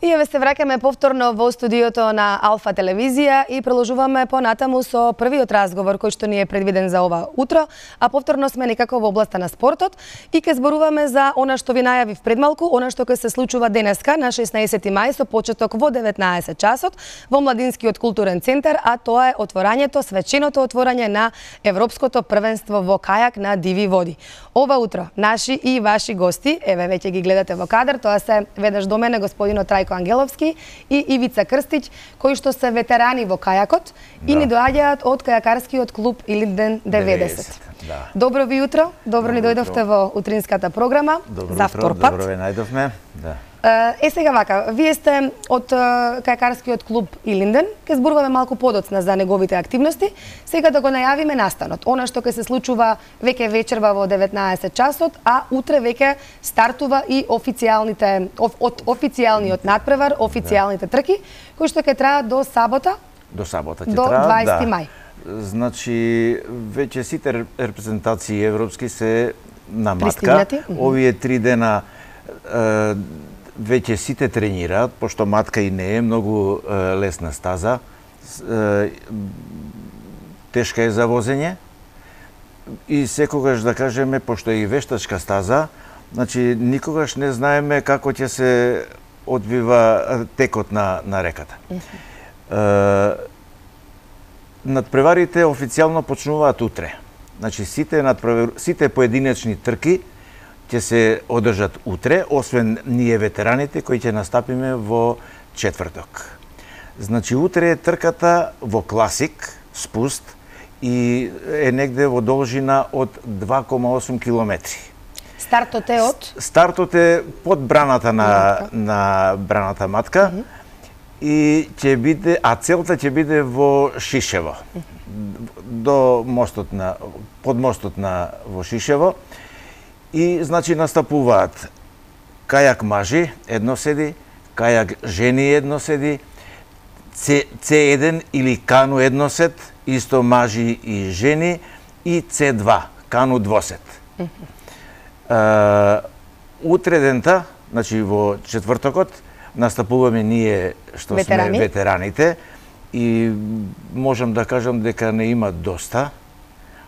И еве се враќаме повторно во студиото на Алфа телевизија и продолжуваме понатаму со првиот разговор кој што ни е предвиден за ова утро, а повторно сме некако во областа на спортот и ќе зборуваме за она што ви најавив пред малку, она што ќе се случува денеска на 16 мај со почеток во 19 часот во Младинскиот културен центар, а тоа е отворањето, свеченото отворање на Европското првенство во кајак на диви води. Ова утро наши и ваши гости, еве веќе ги гледате во кадар, тоа се веднаш до мене господинот Трајко Ангеловски и Ивица Крстич, кои што се ветерани во кајакот и ни доаѓаат од кајакарскиот клуб Илинден 90. Да. Добро ви утро, добро ни дојдовте во утринската програма. За втор пат. Добро ве најдовме. Да. Сега вака, вие сте од кајакарскиот клуб Илинден, ќе зборуваме малку подоцна за неговите активности. Сега да го најавиме настанот. Она што ќе се случува веќе вечерва во 19 часот, а утре веќе стартува и официјалниот надпревар, официјалните трки, кои што ќе траат до сабота. До сабота ќе до траат, 20 мај. Значи, веќе сите репрезентации европски се на матка. Овие 3 дена веќе сите тренираат, пошто матка и не е многу лесна стаза. Тешка е за возење. И секогаш да кажеме, пошто е и вештачка стаза, значи никогаш не знаеме како ќе се одвива текот на реката. Надпреварите официјално почнуваат утре. Значи сите поединечни трки ќе се одржат утре, освен ние ветераните кои ќе настапиме во четврток. Значи утре е трката во класик, спуст, и е негде во должина од 2,8 километри. Стартот е од? Стартот е под браната на браната матка и ќе биде, а целта ќе биде во Шишево. До мостот под мостот во Шишево. И, значи, настапуваат кајак мажи, едно седи, кајак жени едно седи, C1 или кану едносет, исто мажи и жени, и C2, кану двосет. Утре дента, значи во четвртокот, настапуваме ние што сме ветераните и можам да кажам дека не има доста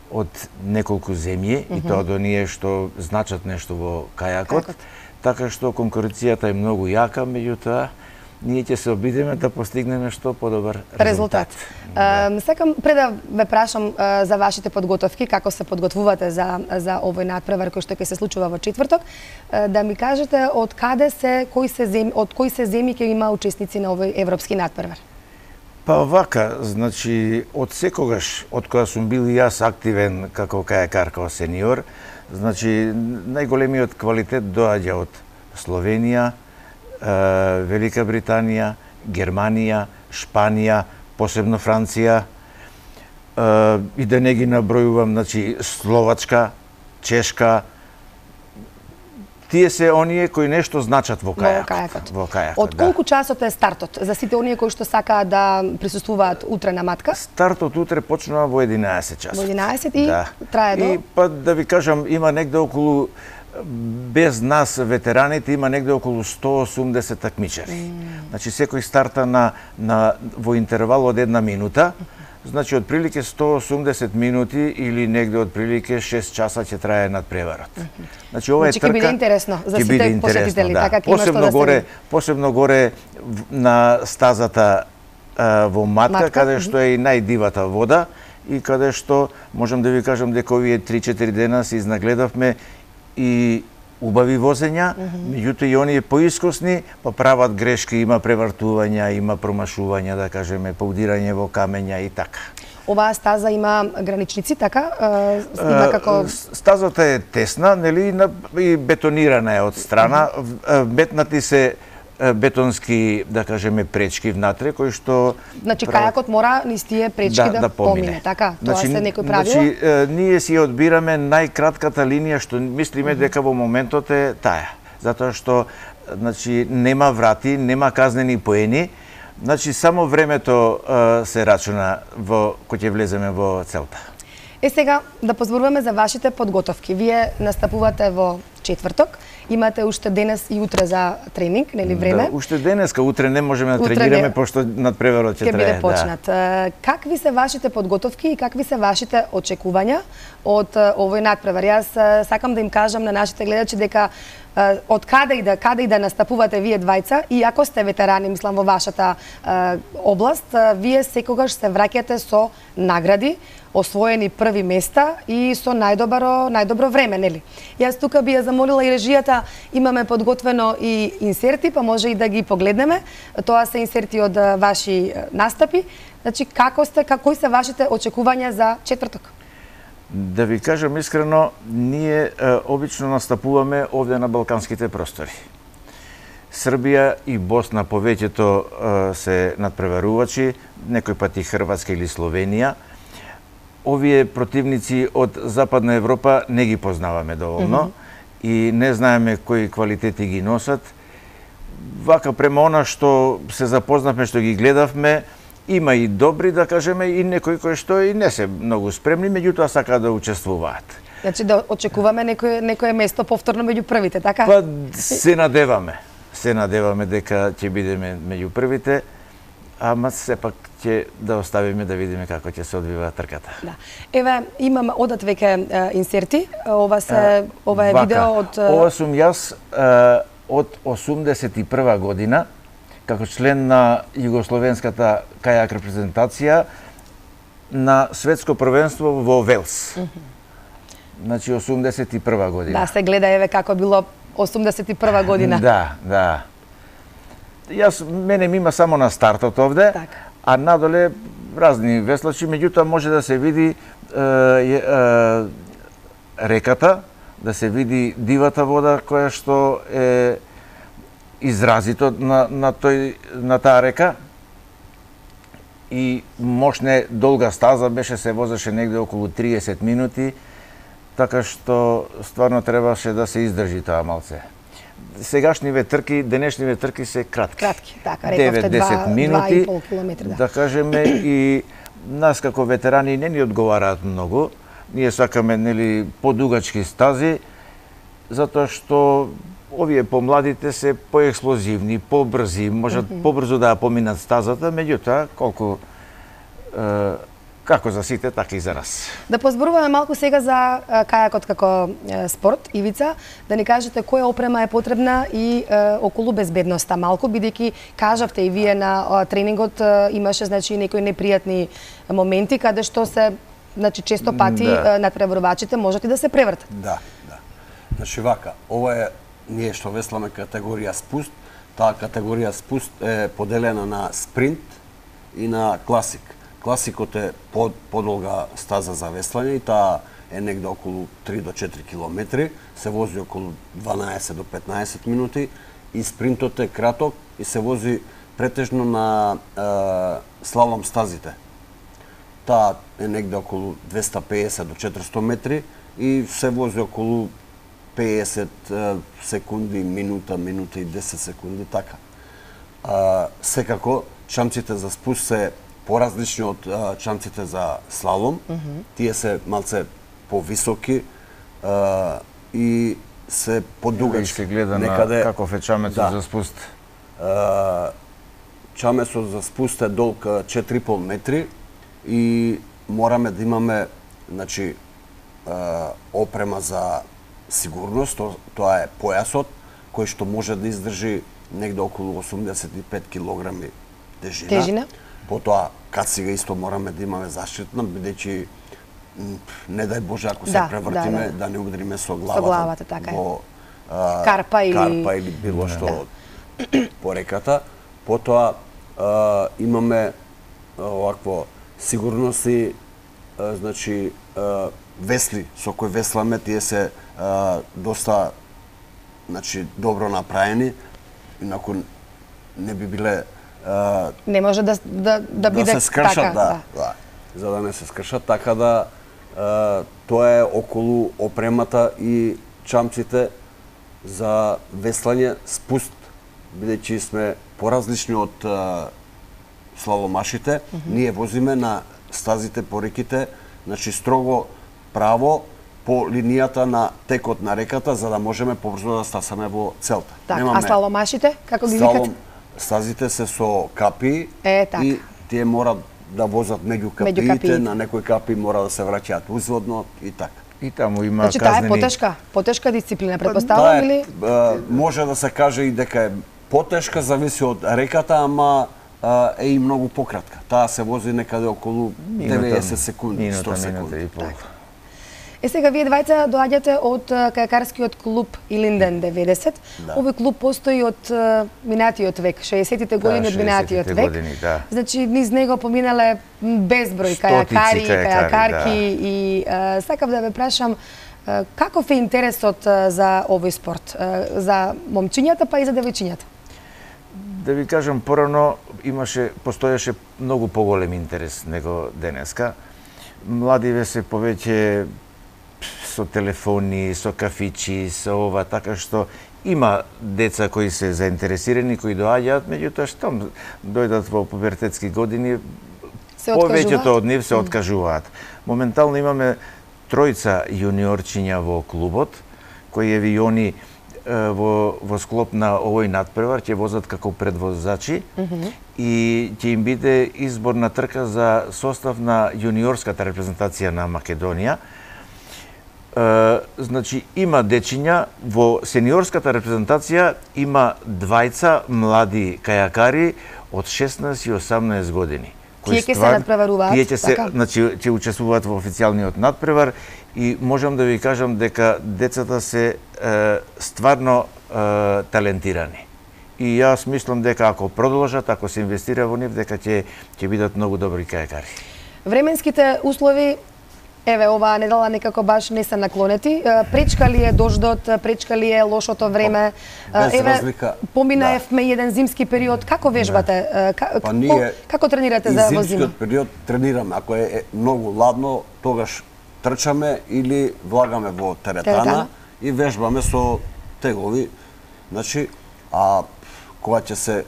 од неколку земји и тоа до ние што значат нешто во кајакот, така што конкуренцијата е многу јака, меѓутоа ние ќе се обидеме да постигнеме што подобар резултат. Сакам пред да ве прашам за вашите подготовки, како се подготвувате за овој надпревар кој што ќе се случува во четврток, да ми кажете од кои се земји ќе има учесници на овој европски надпревар? Па вака, значи, од секогаш, од кога сум бил и јас активен како кајакар, како сениор, значи, најголемиот квалитет доаѓа од Словенија, Велика Британија, Германија, Шпанија, посебно Франција, и да не ги набројувам, значи, Словачка, Чешка, тие се оние кои нешто значат во кајакот. Од колку часот е стартот за сите оние кои што сакаат да присуствуваат утре на матка? Стартот утре почнува во 11 часот. Во 11 и трае до? И па да ви кажам, има негде околу, без нас ветераните, има негде околу 180 такмичари. Значи секој старта во интервал од 1 минута. Значи, од прилике 180 минути или негде од прилике 6 часа ќе трае надпреварот. Значи, ова е трка... ќе биде интересно за сите посетители, така ќе има што да се... Посебно горе на стазата во матка, каде што е и најдивата вода и каде што, можам да ви кажам дека овие 3-4 дена се изнагледавме и убави возења, меѓутоа и оние поискусни, па прават грешки, има превртувања, има промашувања, да кажеме, паудирање во камења и така. Оваа стаза има граничници, така? Има како... Стазата е тесна, нели, и бетонирана е од страна, метнати се бетонски, да кажеме, пречки внатре, кои што... Значи, кајакот мора низ тие пречки да помине, така? Тоа се некој правило? Значи, ние си одбираме најкратката линија што мислиме дека во моментот е таа. Затоа што, значи, нема врати, нема казнени поени, значи, само времето се рачуна кој ќе влеземе во целта. Сега да позборуваме за вашите подготовки. Вие настапувате во четврток. Имате уште денес и утре за тренинг, нели време? Да, уште денеска, утре не можеме да тренираме пошто надпреварот ќе трае. Ќе биде почнат. Да. Какви се вашите подготовки и какви се вашите очекувања од овој надпревар? Јас сакам да им кажам на нашите гледачи дека од каде и да настапувате вие двајца, и ако сте ветерани, мислам, во вашата област, вие секогаш се враќате со награди, освоени први места и со најдобро време, нели? Јас тука би ја замолила и режијата, имаме подготвено и инсерти, па може и да ги погледнеме. Тоа се инсерти од ваши настапи. Значи, кои се вашите очекувања за четврток? Да ви кажам искрено, ние обично настапуваме овде на балканските простори. Србија и Босна повеќето се надпреварувачи, некој пат и Хрватска или Словенија. Овие противници од Западна Европа не ги познаваме доволно и не знаеме кои квалитети ги носат. Вака према она што се запознавме, што ги гледавме, има и добри, да кажеме, и некои кои што и не се многу спремни, меѓутоа сакаат да учествуваат. Значи да очекуваме некое место повторно меѓу првите, така? Па се надеваме. Се надеваме дека ќе бидеме меѓу првите, ама сепак ќе да оставиме да видиме како ќе се одвива трката. Да. Еве, имам одат веќе инсерти. Ова е видео од... Ова сум јас од 81 година, како член на југословенската кајак репрезентација на светско првенство во Велс. Значи 81 година. Да, се гледа еве како било 81 година. Да. Мене ми има само на стартот овде, а надоле разни веслачи, меѓутоа може да се види реката, да се види дивата вода која што е изразито на таа река, и мощна долга стаза беше, се возеше негде околу 30 минути, така што стварно требаше да се издржи тоа малце. Сегашниве трки, денешниве трки се кратки. Кратки, така, рековте 9-10 минути, 2,5 километри, да кажеме, и нас како ветерани не ни одговараат многу. Ние сакаме, нели, подугачки стази, затоа што овие помладите се поексплозивни, побрзи, можат побрзо да ја поминат стазата, меѓутоа, како за сите, така и за нас. Да позборуваме малку сега за кајакот како спорт. Ивица, да ни кажете која опрема е потребна и околу безбедноста малку, бидејќи кажавте и вие на тренингот имаше, значи, некои непријатни моменти каде што се, значи, често пати надпреварувачите можат и да се превртат. Да. Значи вака, ова е ние што весламе категорија спуст. Таа категорија спуст е поделена на спринт и на класик. Класикот е подолга стаза за веслање и таа е негде околу 3 до 4 километри, се вози околу 12 до 15 минути, и спринтот е краток и се вози претежно на слалом стазите. Таа е негде околу 250 до 400 метри и се вози околу 50 секунди, минута и 10 секунди, така. Секако, чамците за спуст се поразлични од чамците за слалом. Тие се малце повисоки и се подугачки. Гледа на каков е чамецот за спуст. Чамецот за спуст е долг 4,5 метри и мораме да имаме, значи, опрема за сигурност. Тоа е појасот кој што може да издржи негде околу 85 килограми тежина. Потоа кацига исто мораме да имаме заштитна, бидејќи не дај Боже ако се превртиме да не удриме со главата така во карпа или било што по реката. Потоа имаме овакво сигурности, значи весли со кои весламе, тие се доста, значи, добро направени, инаку не би биле не може да биде се скршат, така, за да не се скршат, така да тоа е околу опремата и чамците за веслање спуст, бидејќи сме поразлични од слаломашите. Ние возиме на стазите по реките, значи строго право по линијата на текот на реката за да можеме побрзо да стасаме во целта. Така, а слаломашите како ги викате? Стазите се со капи така. И тие мора да возат меѓу капиите, на некои капи мора да се враќаат узводно и така. И таму има значи, казнени... Таа е потешка дисциплина, претпоставувам или? Може да се каже и дека е потешка, зависи од реката, ама е и многу пократка. Таа се вози некаде околу 90 секунди, 100 секунди. Сега вие двајца доаѓате од кајакарскиот клуб Илинден 90. Да. Овој клуб постои од минатиот век, 60-тите години од минатиот век. Години, да. Значи низ него поминале безброј кајакари, кајакарки и сакав да ве прашам каков е интересот за овој спорт, за момчињата па и за девојчињата? Да ви кажам, порано постоеше многу поголем интерес него денеска. Младиве се повеќе со телефони, со кафичи, со ова, така што има деца кои се заинтересирани, кои доаѓаат, меѓутоа што дојдат во пубертетски години, повеќето од нив се откажуваат. Моментално имаме тројца јуниорчиња во клубот, кои еви они во склоп на овој надпревар ќе возат како предвозачи и ќе им биде изборна трка за состав на јуниорската репрезентација на Македонија. Значи, има дечиња, во сениорската репрезентација има двајца млади кајакари од 16 и 18 години. Тие ќе се надпреваруваат? Тие ќе учествуваат во официјалниот надпревар и можам да ви кажам дека децата се стварно талентирани. И јас мислам дека ако продолжат, ако се инвестира во нив, дека ќе бидат многу добри кајакари. Временските услови, еве, оваа недела некако баш не се наклонети. Пречка ли е дождот, пречка ли е лошото време? Еве, поминаевме еден зимски период. Како вежбате? Како тренирате за во зима? И зимскиот период тренираме. Ако е многу ладно, тогаш трчаме или влагаме во теретана и вежбаме со тегови. Значи, кога ќе се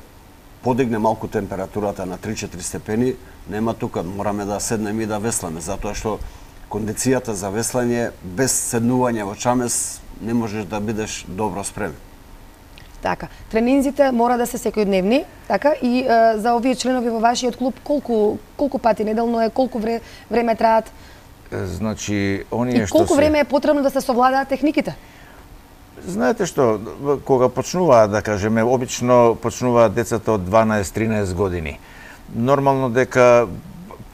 подигне малку температурата на 3-4 степени, нема тука, мораме да седнеме и да весламе, затоа што кондицијата за веслање без седнување во чамес не можеш да бидеш добро спремен. Така, тренинзите мора да се секојдневни, така, и за овие членови во вашиот клуб колку пати неделно е, колку време траат? Значи, оние што колку време е потребно да се совладаат техниките? Знаете што, кога почнуваат, да кажеме, обично почнуваат децата од 12-13 години. Нормално дека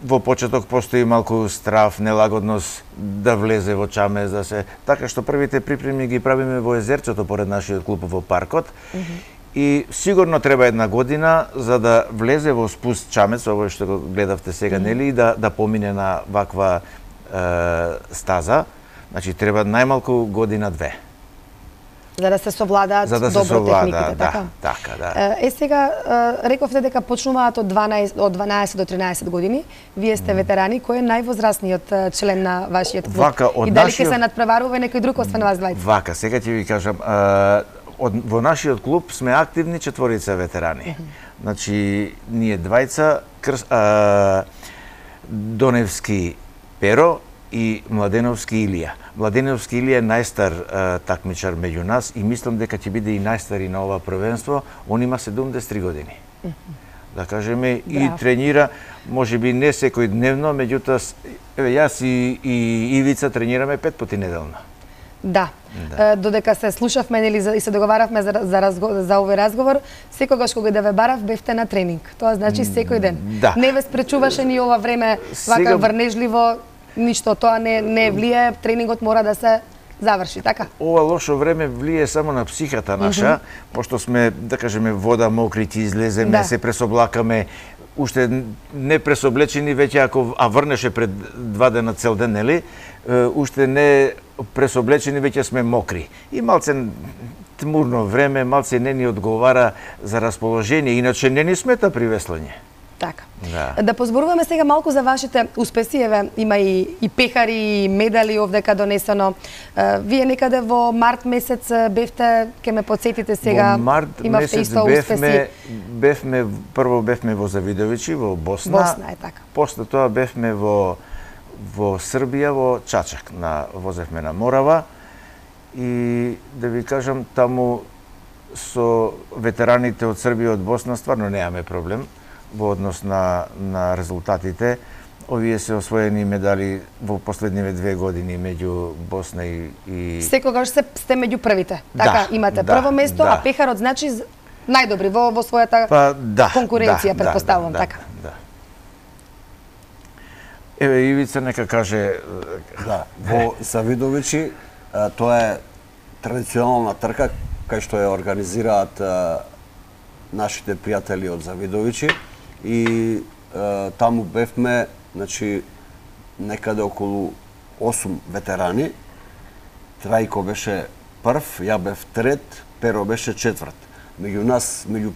во почеток постои малку страв, нелагодност да влезе во чамес, да се... Така што првите припреми ги правиме во езерцето поред нашиот клуб во паркот. И сигурно треба една година за да влезе во спуст чамец, овој што го гледавте сега, нели, и да помине на ваква стаза. Значи, треба најмалку година-две. За да се совладаат добро техниките, така? Така, да. Сега, рековте дека почнуваат од 12 до 13 години. Вие сте ветерани. Кој е највозрастниот член на вашиот клуб? И дали ќе се надпреварува некој друг освен вас двајца? Вака, сега ќе ви кажам, во нашиот клуб сме активни 4 ветерани. Значи, ние двајца, Доневски Перо и Младеновски Илија. Младеновски Илија е најстар такмичар меѓу нас и мислам дека ќе биде и најстар и на ова првенство. Он има 73 години. Да кажеме, и тренира, можеби не секојдневно, меѓутоа, јас и Ивица тренираме 5 пати неделно. Да. Додека се слушавме и се договаравме за овој разговор, секогаш кога да ве барав, бевте на тренинг. Тоа значи секој ден. Да. Не ве спречуваше ни ова време вака врнежливо, ништо, тоа не влие, тренингот мора да се заврши, така? Ова лошо време влие само на психата наша, пошто сме, да кажеме, вода мокри, ќе излеземе, се пресоблакаме, уште не пресоблечени, веќе ако врнеше пред 2 дена цел ден, нели, уште не пресоблечени, веќе сме мокри. И малце тмурно време, малце не ни одговара за расположение, иначе не ни смета при веслање. Така. Да позборуваме сега малку за вашите успеси. Еве, има и пехари, и медали овдека донесено. Вие некаде во март месец бевте, ке ме подсетите сега, во март имавте месец исто успеси. Прво бевме во Завидовичи, во Босна. Босна е така. После тоа бевме во во Србија, во Чачак, возевме на Морава и да ви кажам, таму со ветераните од Србија и од Босна стварно немаме проблем во однос на резултатите. Овие се освоени медали во последниве 2 години меѓу Босна и... Секогаш сте меѓу првите. Така, имате прво место, а пехарот значи најдобри во својата конкуренција, претпоставувам, така. Еве, Ивица нека каже... Да, во Завидовичи, тоа е традиционална трка, кај што ја организираат нашите пријатели од Завидовичи и таму бевме, значи, некаде околу 8 ветерани. Трајко беше прв, ја бев трет, Перо беше четврт. Меѓу нас, меѓу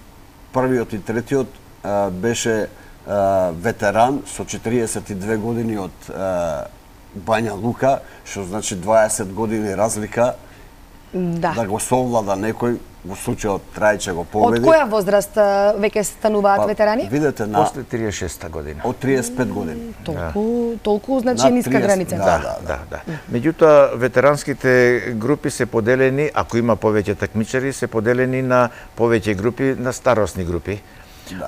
првиот и третиот беше ветеран со 42 години од Бања Лука, што значи 20 години разлика. Да го совлада некој, во случајот Трајче го победи. Од која возраст веќе стануваат ветерани? Видете, после 36 година. Од 35 години. Толку значи ниска граница. Да. Меѓутоа, ветеранските групи се поделени, ако има повеќе такмичари, се поделени на повеќе групи, на старосни групи.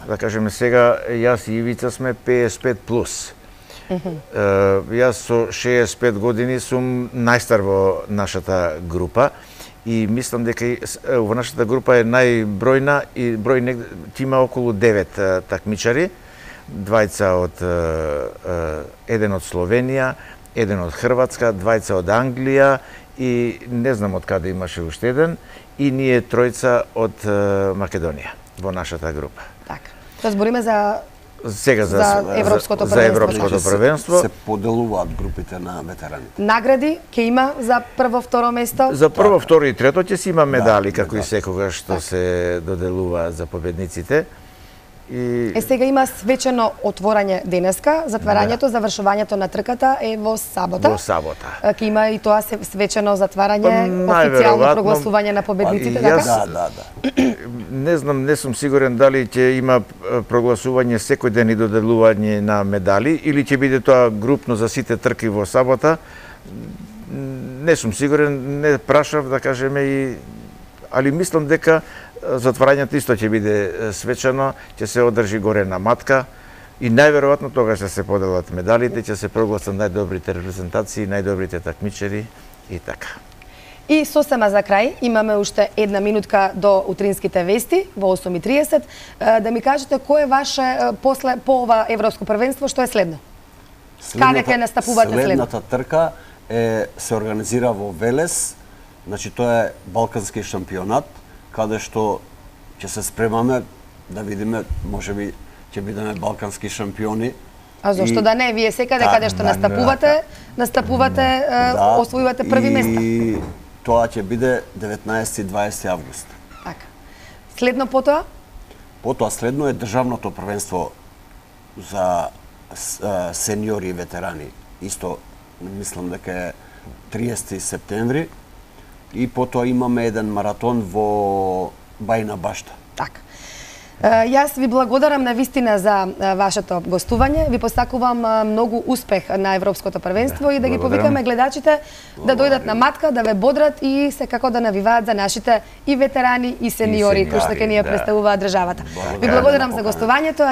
Да кажеме сега, јас и Ивица сме 55 плюс. Јас со 65 години сум најстар во нашата група и мислам дека во нашата група е најбројна и ќе има околу 9 такмичари, двајца еден од Словенија, еден од Хрватска, двајца од Англија и не знам од каде имаше уште еден и ние тројца од Македонија во нашата група. Така. Тоа збориме за сега за европското првенство. Се поделуваат групите на ветераните. Награди ќе има за прво, второ место? За прво, второ и трето ќе си има медали, како и секогаш што се доделува за победниците. Сега има свечено отворање денеска, затварањето, завршувањето на трката е во сабота. Во сабота. Ќе има и тоа свечено затварање, официјално прогласување на победниците, така? Да. Не знам, не сум сигурен дали ќе има прогласување секој ден и доделување на медали или ќе биде тоа групно за сите трки во сабота. Не сум сигурен, не прашав да кажеме али мислам дека затварањето исто ќе биде свечено, ќе се одржи горе на матка и најверојатно тогаш ќе се поделат медалите, ќе се прогласат најдобрите репрезентации, најдобрите такмичари и така. И сосема за крај, имаме уште една минутка до утринските вести во 8:30. Да ми кажете кој е ваше по ова европско првенство, што е следно? Каде ќе настапувате следно? Следната трка се организира во Велес, значи тоа е балкански шампионат, каде што ќе се спремаме да видиме, можеби ќе бидеме балкански шампиони. А зошто да не? Вие секаде каде што настапувате, освојувате први места. И тоа ќе биде 19 и 20 август. Така. Следно потоа? Потоа следно е државното првенство за сениори и ветерани. Исто мислам дека е 30 септември. И потоа имаме еден маратон во Бајна Башта. Така. Јас ви благодарам на вистина за вашето гостување. Ви посакувам многу успех на Европското првенство и да ги повикаме гледачите да дојдат на матка, да ве бодрат и секако да навиваат за нашите и ветерани и сениори кои што ќе ни ја представуваат државата. Ви благодарам за гостувањето.